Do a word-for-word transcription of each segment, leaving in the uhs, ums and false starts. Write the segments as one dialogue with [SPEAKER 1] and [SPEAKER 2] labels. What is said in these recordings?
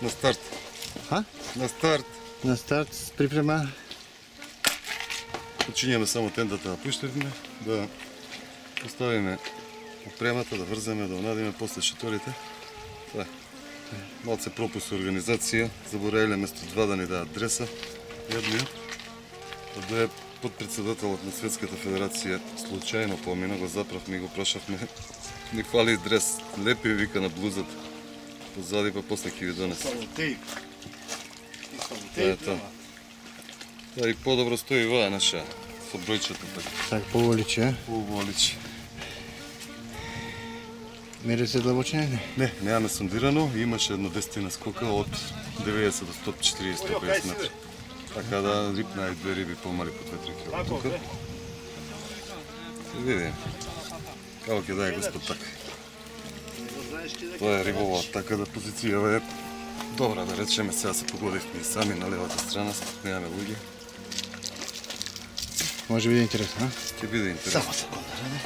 [SPEAKER 1] На старт.
[SPEAKER 2] Ха?
[SPEAKER 1] На старт.
[SPEAKER 2] На старт, припрема.
[SPEAKER 1] Почињаме само тендата да пуштиме, да поставиме опремата, да врземе, да унадиме после шиторите. Това е. Малце пропуст организација, забораиле место два да ни дадат адреса. Јадниот, да е подпредседателот на Светската федерација, случајно помина, го заправме и го прашавме. Ни фали дрес, лепи вика на блузата. Позади па после ќе ви донесе.
[SPEAKER 3] Само тејп.
[SPEAKER 1] Тоа е тоа. Да, и подобро стои ваа наша со бројчето така.
[SPEAKER 2] Така поволиче, а?
[SPEAKER 1] Поволиче.
[SPEAKER 2] Мери се длабочина? Не.
[SPEAKER 1] Не, немаме сондирано, имаше едно десетина скока од деветдесет до сто четириесет до сто песет метри. Така да рипна и две риби помали по две-три кило тука. Се видим. Како ќе даде господ така. Тоа е рибова, така да позицијава е добра, да речеме, сега се погодивме и сами на левата страна, немаме луѓе.
[SPEAKER 2] Може биде интересно, а?
[SPEAKER 1] Ќе биде интересно.
[SPEAKER 3] Само секунда, не?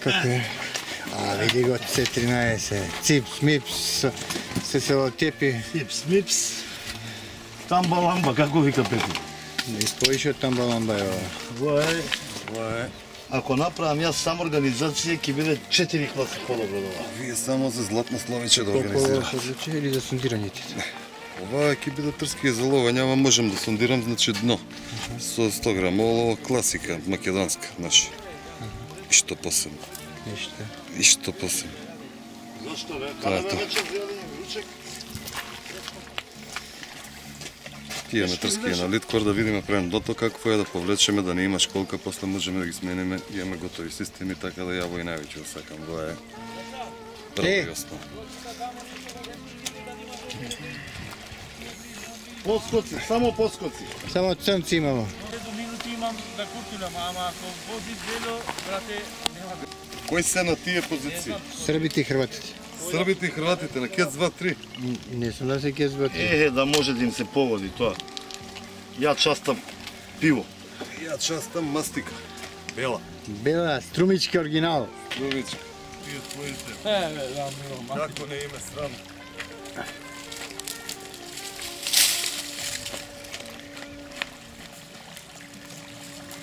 [SPEAKER 2] Како е? А, види го, С тринаесет, ципс, мипс, се се отепи.
[SPEAKER 3] Хипс, мипс. Тамба ламба, како вика Пети?
[SPEAKER 2] Да испоише од тамбаламба е ова.
[SPEAKER 3] Во е.
[SPEAKER 1] Ова е.
[SPEAKER 3] Ако направам јас сам организација, ќе биде четири класи подобро од ова.
[SPEAKER 1] Вие само за златно словиче да
[SPEAKER 2] Колку
[SPEAKER 1] организирате.
[SPEAKER 2] се одлучи или за сондирањите?
[SPEAKER 1] Ова ќе биде трски за ловење, ама можам да сондирам, значи дно. Со сто грама олово, класика, македонска, наша. И што посебно.
[SPEAKER 2] Ништо.
[SPEAKER 1] И што посебно.
[SPEAKER 3] Зашто бе?
[SPEAKER 1] Тоа е
[SPEAKER 3] Каде
[SPEAKER 1] тоа.
[SPEAKER 3] бе вечер взели ручек?
[SPEAKER 1] Тие метрски на литкор да видиме прендото какво е, да повлечеме, да не има школка, после можеме да ги смениме, имаме готови системи, така да ја во и највеќе сакам. Тоа е прво и основно.
[SPEAKER 3] Поскоци, само поскоци.
[SPEAKER 2] Само црнци имало.
[SPEAKER 4] До минути имам да куртулам, ама ако води дело, брате, нема.
[SPEAKER 1] Кои се на тие позиции?
[SPEAKER 2] Србите и хрватите.
[SPEAKER 1] Србите и хрватите на Кец два три.
[SPEAKER 2] Не сум да се кезбати.
[SPEAKER 3] Е, да може да им се поводи тоа. Ја частам пиво.
[SPEAKER 1] Ја частам мастика. Бела.
[SPEAKER 2] Бела, струмички оригинал.
[SPEAKER 1] Любичка. Тие твоите.
[SPEAKER 4] Е, бе, да, мило, ма.
[SPEAKER 1] Како не име срам.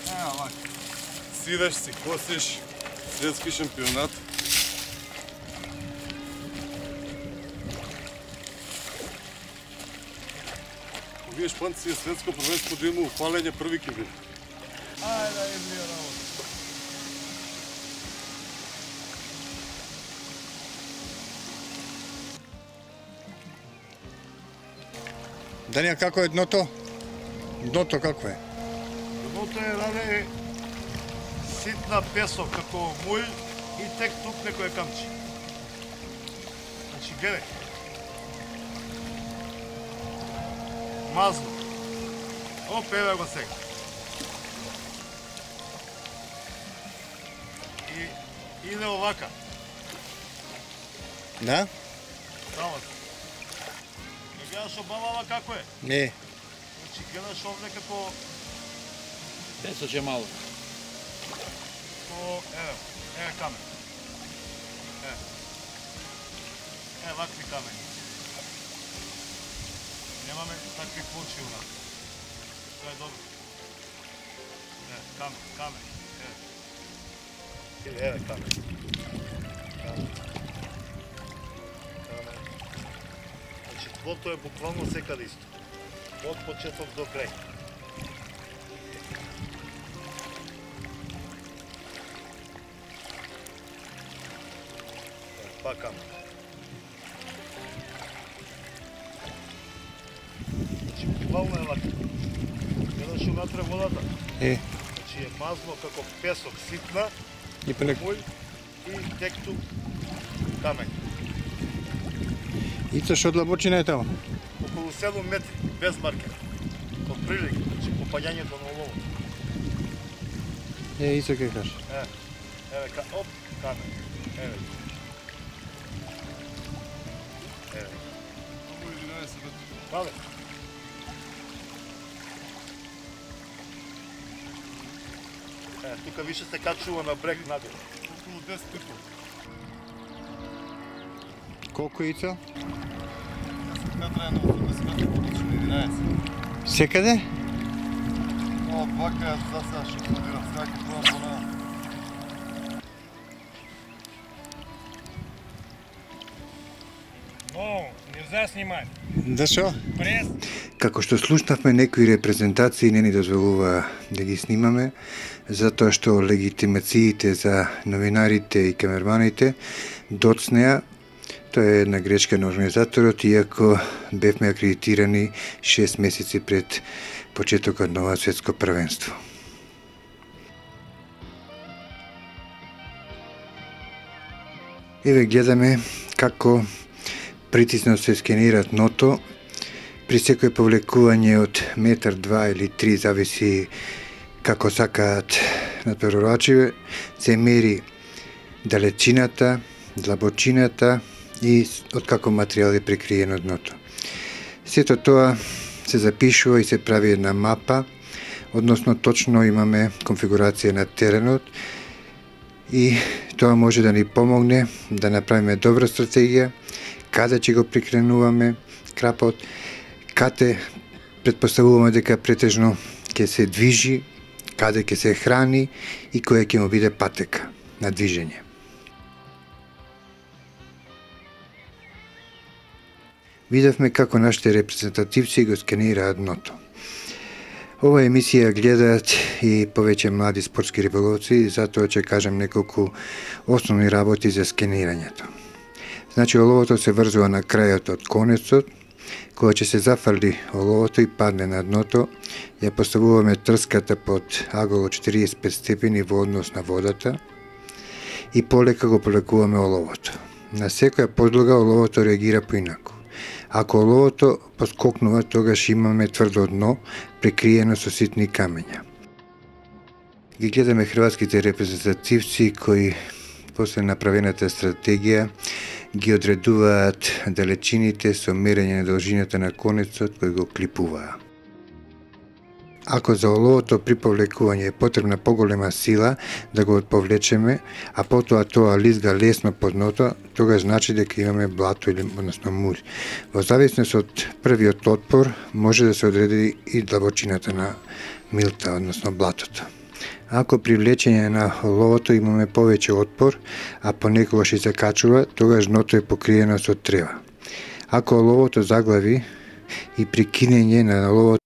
[SPEAKER 4] Е, овако.
[SPEAKER 1] Сидеш си, косиш, светски шампионат. Вие шпанци е светско првенство да има упалење први ќе биде.
[SPEAKER 4] Ајде, да им био работа.
[SPEAKER 2] Данија, како е дното? Дното како е?
[SPEAKER 3] Дното е, раде, ситна песок, како муј и тек тук некој камчи. Значи, гледај. Мазно. Оп, еве го сега. И иде овака.
[SPEAKER 2] Да?
[SPEAKER 3] Само. Не гледаш обавава како е?
[SPEAKER 2] Не.
[SPEAKER 3] Значи, гледаш овде како...
[SPEAKER 4] Песоќе мало.
[SPEAKER 3] Ко, еве, еве камен. Еве. Еве, вакви камени. Немаме такви плочи у нас. Тоа е добро. Еве, камен, камен. Еве. Еве камен. Камен. Камен. Значи, тлото е буквално секаде исто. Од почеток до крај. Па камен. Значи, буквално е вака. Гледаш унатре водата.
[SPEAKER 2] Е,
[SPEAKER 3] Значи е мазно како песок, ситна,
[SPEAKER 2] и пелек.
[SPEAKER 3] муј и текту камен.
[SPEAKER 2] Ицо што длабочина е тамо?
[SPEAKER 3] Околу седум метри, без маркер. Од прилика, значи попаѓањето на олово.
[SPEAKER 2] Е, Ицо ке кажеш.
[SPEAKER 3] Е, еве, ка, оп, камен. Еве. Еве. Пале. Е, тука више се качува на брег надолу.
[SPEAKER 1] Околу десет пипов.
[SPEAKER 2] Колку Ицо?
[SPEAKER 1] трае на осумдесет метри, поточно единаесет.
[SPEAKER 2] Секаде?
[SPEAKER 1] Ова бака за сега што планирам, сега ќе пробам по на...
[SPEAKER 4] Но, нельзя снимать.
[SPEAKER 2] Да шо?
[SPEAKER 4] Прес.
[SPEAKER 2] Како што слушнавме, некои репрезентации не ни дозволува да ги снимаме, затоа што легитимациите за новинарите и камерманите доцнеа. Тоа е една грешка на организаторот, иако бевме акредитирани шест месеци пред почетокот на ова светско првенство. Еве гледаме како притисно се скенира дното. При секој повлекување од метар, два или три, зависи како сакаат надпреварувачите, се мери далечината, длабочината и од како материјал е прикриено дното. Сето тоа се запишува и се прави една мапа, односно точно имаме конфигурација на теренот и тоа може да ни помогне да направиме добра стратегија, каде ќе го прикренуваме крапот, каде предпоставуваме дека претежно ќе се движи, каде ќе се храни и која ќе му биде патека на движење. Видовме како нашите репрезентативци го сканираат дното. Ова емисија гледаат и повеќе млади спортски риболовци, затоа ќе кажам неколку основни работи за сканирањето. Значи, оловото се врзува на крајот од конецот. Кога ќе се зафрли оловото и падне на дното, ја поставуваме трската под аголо четириесет и пет степени во однос на водата и полека го полекуваме оловото. На секоја подлога оловото реагира поинаку. Ако оловото поскокнува, тогаш имаме тврдо дно, прекриено со ситни камења. Ги гледаме хрватските репрезентативци кои после направената стратегија ги одредуваат далечините со мерење на должината на конецот кој го клипуваа. Ако за оловото при повлекување е потребна поголема сила да го повлечеме, а потоа тоа лизга лесно по дното, тогаш значи дека имаме блато или односно мур. Во зависност од првиот отпор може да се одреди и длабочината на милта, односно блатото. Ако при влечење на оловото имаме повеќе отпор, а понекогаш и закачува, тогаш дното е покриено со трева. Ако оловото заглави и при кинење на оловото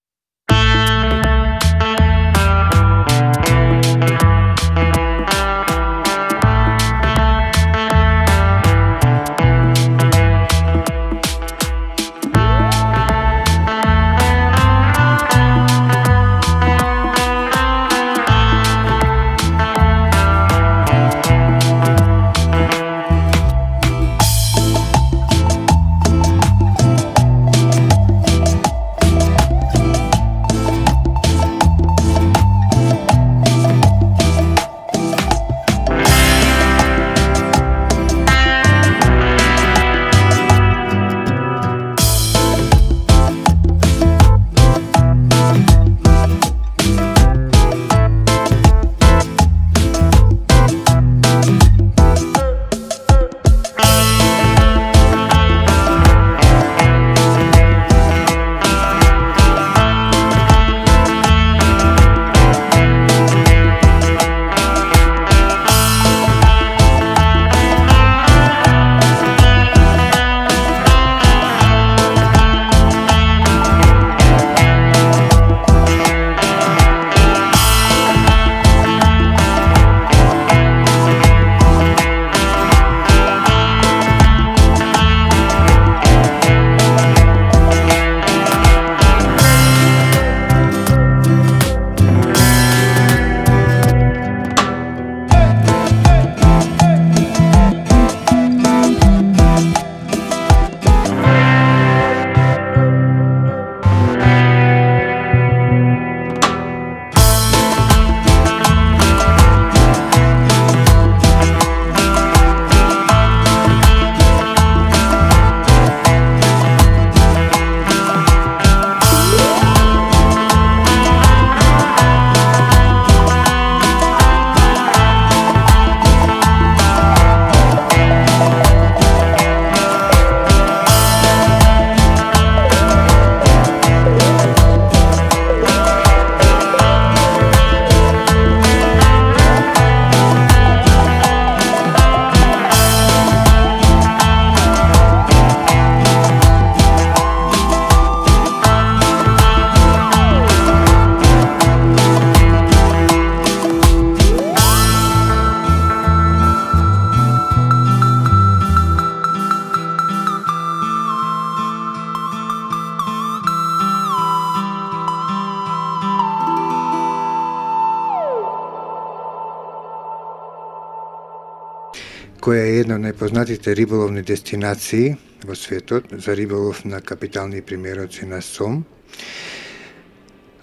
[SPEAKER 2] која е една од најпознатите риболовни дестинации во светот за риболов на капитални примероци на сом.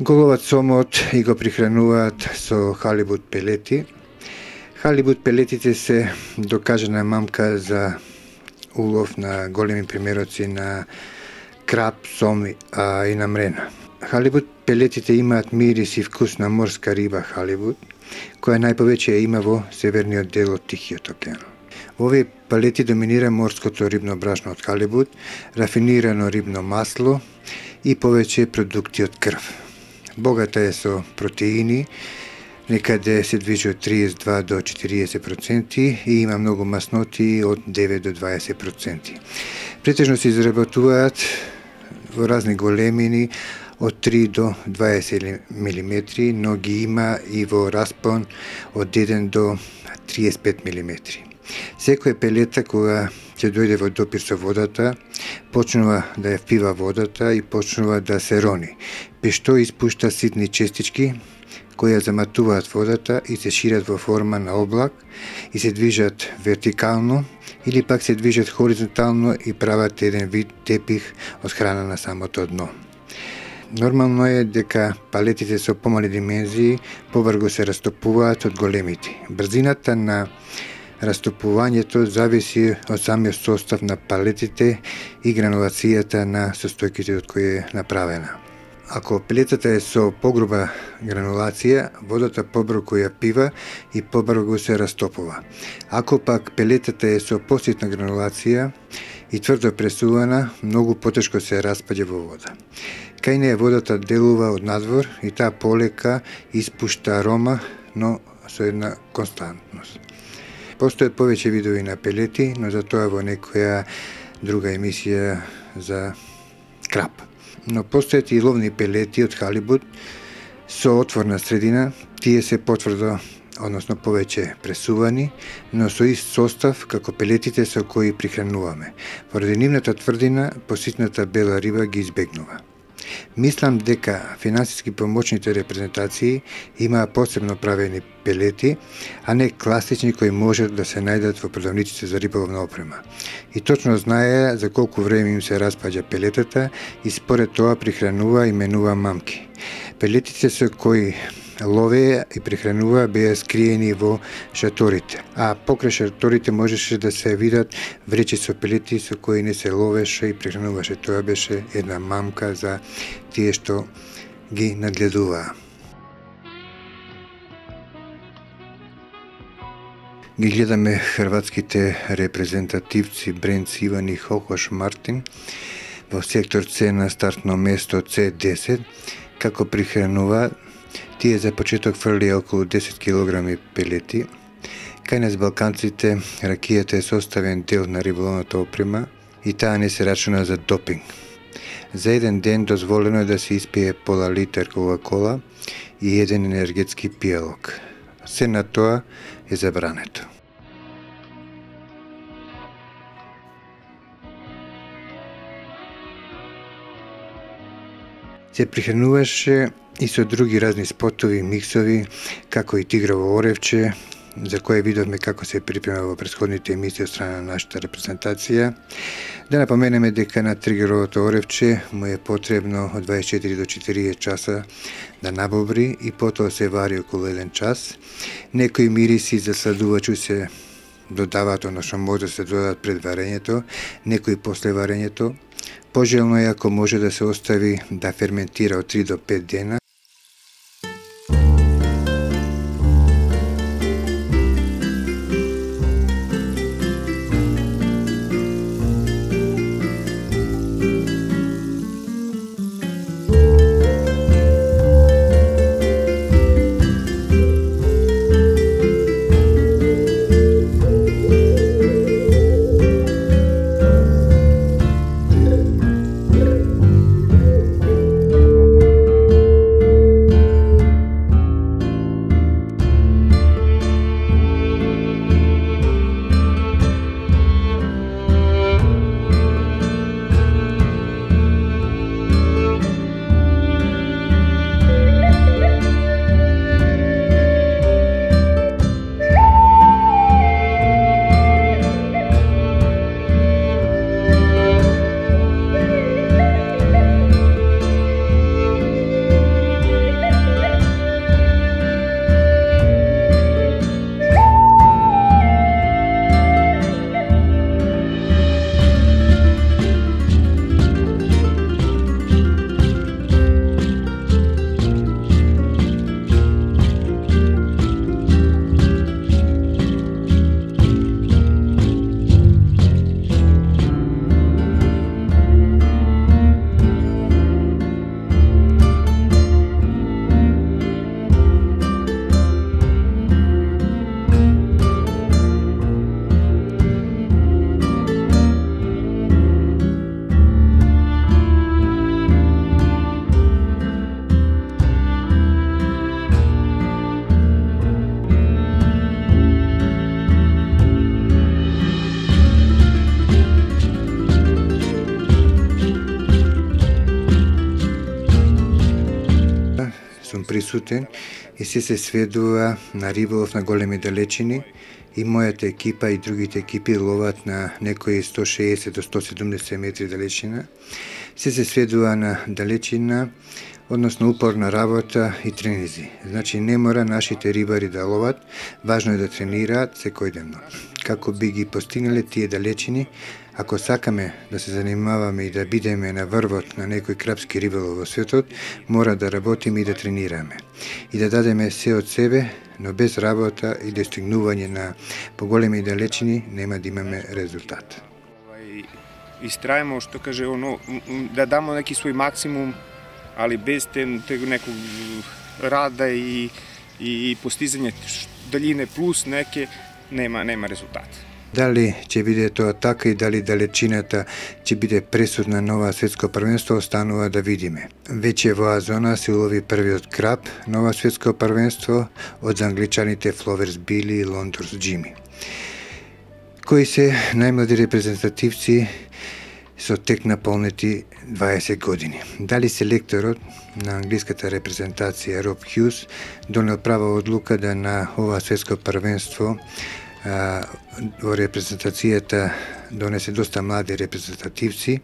[SPEAKER 2] Го ловат сомот и го прихрануваат со халибут пелети. Халибут пелетите се докажана мамка за улов на големи примероци на краб, сом а и на мрена. Халибут пелетите имаат мирис и вкус на морска риба халибут, која најповеќе ја има во северниот дел од Тихиот океан. Во овие пелети доминира морското рибно брашно од халибут, рафинирано рибно масло и повеќе продукти од крв. Богата е со протеини, некаде се движи од триесет и два до четириесет проценти и има многу масноти од девет до дваесет проценти. Претежно се изработуваат во разни големини од три до дваесет милиметри, но ги има и во распон од еден до триесет и пет милиметри. Секоја пелета кога ќе дојде во допир со водата, почнува да ја впива водата и почнува да се рони, без што испушта ситни честички кои ја заматуваат водата и се шират во форма на облак и се движат вертикално или пак се движат хоризонтално и прават еден вид тепих од храна на самото дно. Нормално е дека палетите со помали димензии побрзо се растопуваат од големите. Брзината на растопувањето зависи од самиот состав на палетите и гранулацијата на состојките од кои е направена. Ако пелетата е со погруба гранулација, водата побрзо ја пива и побрзо се растопува. Ако пак пелетата е со поситна гранулација и тврдо пресувана, многу потешко се распаѓа во вода. Кај неја водата делува од надвор и таа полека испушта арома, но со една константност. Постојат повеќе видови на пелети, но за тоа во некоја друга емисија за краб. Но постојат и ловни пелети од халибут со отворна средина, тие се потврдо, односно повеќе пресувани, но со ист состав како пелетите со кои прихрануваме. Поради нивната тврдина, поситната бела риба ги избегнува. Мислам дека финансиски помочните репрезентации имаа посебно правени пелети, а не класични кои можат да се најдат во продавниците за риболовна опрема. И точно знае за колку време им се распаѓа пелетата и според тоа прихранува и менува мамки. Пелетите со кои ловеа и прихранува беа скриени во шаторите, а покрај шаторите можеше да се видат вречи со пелети со кои не се ловеше и прихрануваше. Тоа беше една мамка за тие што ги нагледуваа. Ги гледаме хрватските репрезентативци Бренц Иван и Хохош Мартин во сектор С на стартно место С десет, како прихрануваат. Тие за почеток фрлија околу десет килограми пелети. Кај нас балканците ракијата е составен дел на риболовната опрема и таа не се рачуна за допинг. За еден ден дозволено е да се испие пола литар Кока-кола и еден енергетски пијалок. Се на тоа е забрането. Се прихрануваше и со други разни спотови, миксови, како и тигрово оревче, за кое видовме како се припрема во претходните емисии од страна на нашата репрезентација. Да напоменеме дека на тигровото оревче му е потребно од дваесет и четири до четириесет часа да набобри и потоа се вари околу еден час. Некои мириси за сладувачу се додаваат, односно може да се додадат пред варењето, некои после варењето. Пожелно е ако може да се остави да ферментира од три до пет дена. присутен и се се сведува на риболов на големи далечини. И мојата екипа и другите екипи ловат на некои сто шеесет до сто седумдесет метри далечина. Се се сведува на далечина, односно упорна работа и тренизи. Значи не мора нашите рибари да ловат, важно е да тренираат секојдневно. Како би ги постигнале тие далечини, ако сакаме да се занимаваме и да бидеме на врвот на некој крапски риболов во светот, мора да работиме и да тренираме. И да дадеме се од себе, но без работа и достигнување на поголеми далечини нема да имаме резултат.
[SPEAKER 5] Истрајемо, што каже, оно, да дамо неки свој максимум, али без тег неког рада и, и постизање далине плюс неке, нема, нема резултат.
[SPEAKER 2] Дали ќе биде тоа така и дали далечината ќе биде пресудна на ова светско првенство, останува да видиме. Веќе во зона се улови првиот краб на ова светско првенство од англичаните Фловерс Били и Лондорс Джими, кои се најмлади репрезентативци со тек наполнети дваесет години. Дали селекторот на англиската репрезентација Роб Хјус донел права одлука да на ова светско првенство во репрезентацијата донесе доста млади репрезентативци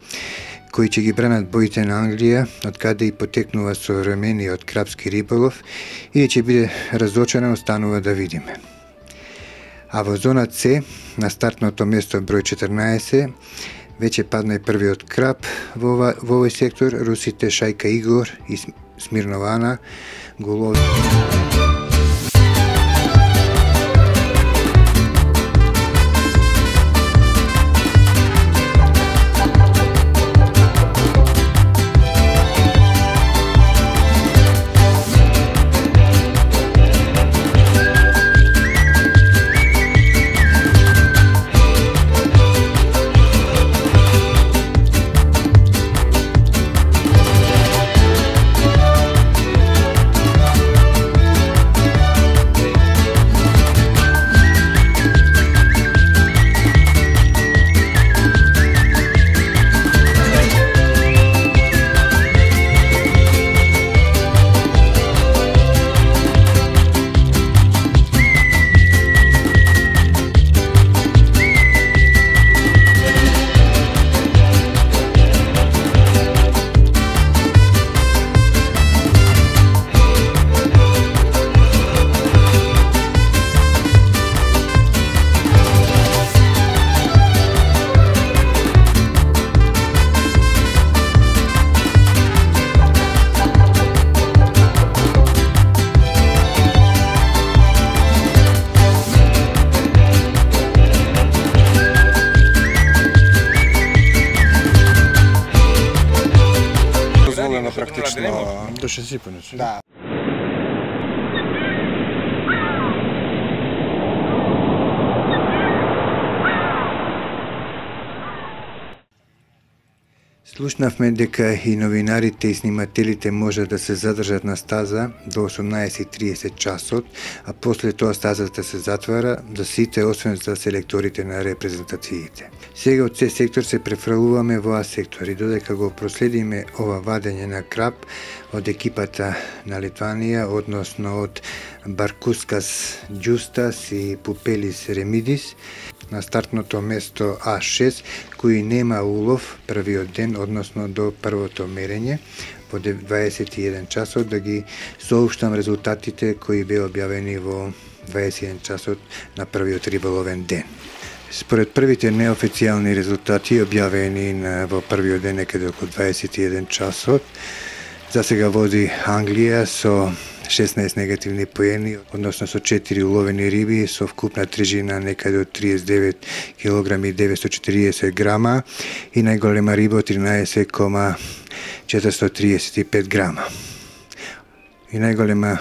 [SPEAKER 2] кои ќе ги бранат боите на Англија, од каде и потекнува современиот крапски риболов, или ќе биде разочаран, останува да видиме. А во зона С, на стартното место број четрнаесет, веќе падна и првиот краб во, ова, во овој сектор, русите Шајка Игор и Смирнова Ана го ловат.
[SPEAKER 5] Практично
[SPEAKER 2] до шестдесет.
[SPEAKER 5] Да.
[SPEAKER 2] Слушнавме дека и новинарите и снимателите може да се задржат на стаза до осумнаесет и триесет часот, а после тоа стазата се затвара за сите, освен за селекторите на репрезентациите. Сега од С сектор се префрлуваме во А сектор и додека го проследиме ова вадење на краб од екипата на Литванија, односно од Баркускас Джустас и Пупелис Ремидис, на стартното место А шест, кој нема улов првиот ден, односно до првото мерење, во дваесет и еден часот, да ги соуштам резултатите кои беа објавени во дваесет и еден часот на првиот риболовен ден. Според првите неофицијални резултати објавени на, во првиот ден некаде околу дваесет и еден часот, за сега води Англија со шеснаесет негативни поени, односно со четири уловени риби со вкупна тежина некаде од триесет и девет килограми и деветстотини и четиридесет грама и најголема риба од тринаесет кома четиристотини триесет и пет грама. И најголема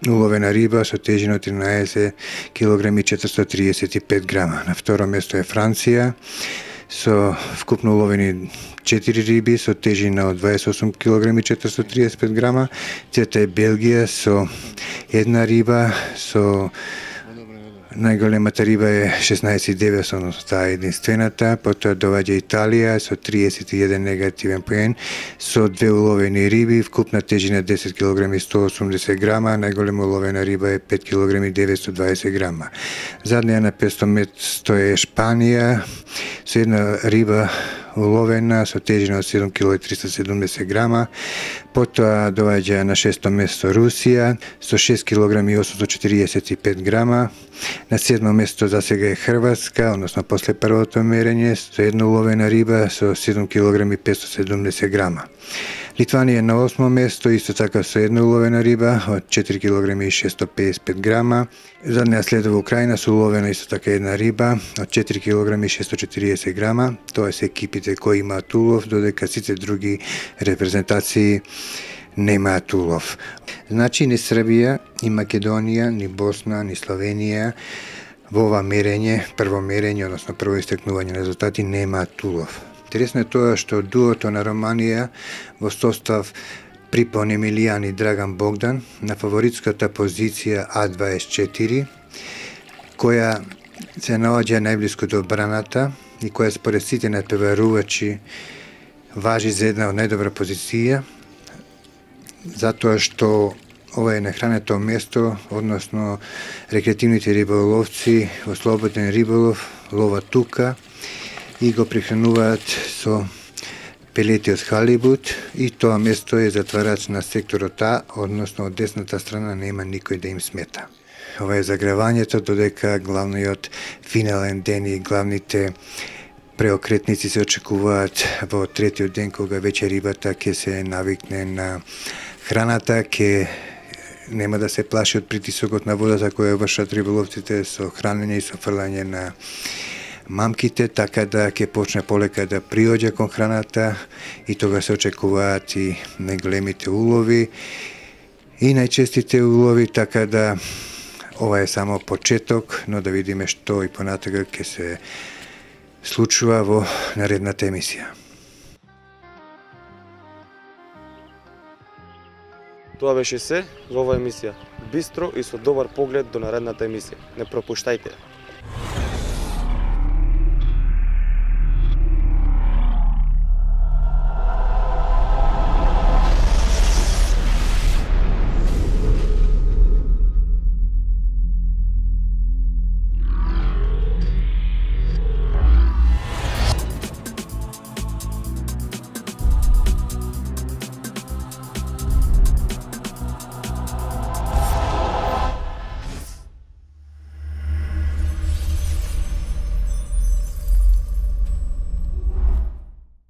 [SPEAKER 2] уловена риба со тежина од тринаесет килограми и четиристотини триесет и пет грама. На второ место е Франција со вкупно уловени четири риби со тежина од дваесет и осум килограми и четиристотини триесет и пет грама. Трета е Белгија со една риба со Најголемата риба е шеснаесет и деветстотини, односно таа е единствената, потоа доаѓа Италија со триесет и еден негативен поен, со две уловени риби, вкупна тежина десет килограми сто осумдесет грама, најголема уловена риба е пет килограми деветстотини и дваесет грама. Заднија на петстотини место е Шпанија, со една риба уловена со тежина од седум килограми и триста и седумдесет грама, потоа доаѓа на шесто место Русија со шест килограми и осумстотини и четириесет и пет грама, на седмо место за сега е Хрватска, односно после првото мерење, со една уловена риба со седум килограми и петстотини и седумдесет грама. Литванија е на осмо место, исто така со една уловена риба од четири килограми и шестстотини и педесет и пет грама. За неа следува Украина со уловена исто така една риба од четири килограми и шестстотини и четириесет грама. Тоа се екипите кои имаат улов, додека сите други репрезентации немаат улов. Значи ни Србија, ни Македонија, ни Босна, ни Словенија во ова мерење, прво мерење, односно прво истекнување на резултати, немаат улов. Интересно е тоа што дуото на Романија во состав Припон Емилијан и Драган Богдан на фаворитската позиција А дваесет и четири, која се наоѓа најблиску до браната и која според сите натпреварувачи важи за една од најдобра позиција, затоа што ова е нахрането место, односно рекреативните риболовци во слободен риболов ловат тука и го прехрануваат со пелети од халибут, и тоа место е затварач на секторот А, односно од десната страна нема никој да им смета. Ова е загревањето, додека главниот финален ден и главните преокретници се очекуваат во третиот ден, кога веќе рибата ќе се навикне на храната, ќе нема да се плаши од притисокот на водата која вршат риболовците со хранење и со фрлање на мамките, така да ќе почне полека да приоѓа кон храната, и тога се очекуваат и најголемите улови и најчестите улови, така да ова е само почеток, но да видиме што и понатака ќе се случува во наредната емисија.
[SPEAKER 6] Тоа беше се во оваа емисија. Бистро и со добар поглед до наредната емисија. Не пропуштајте!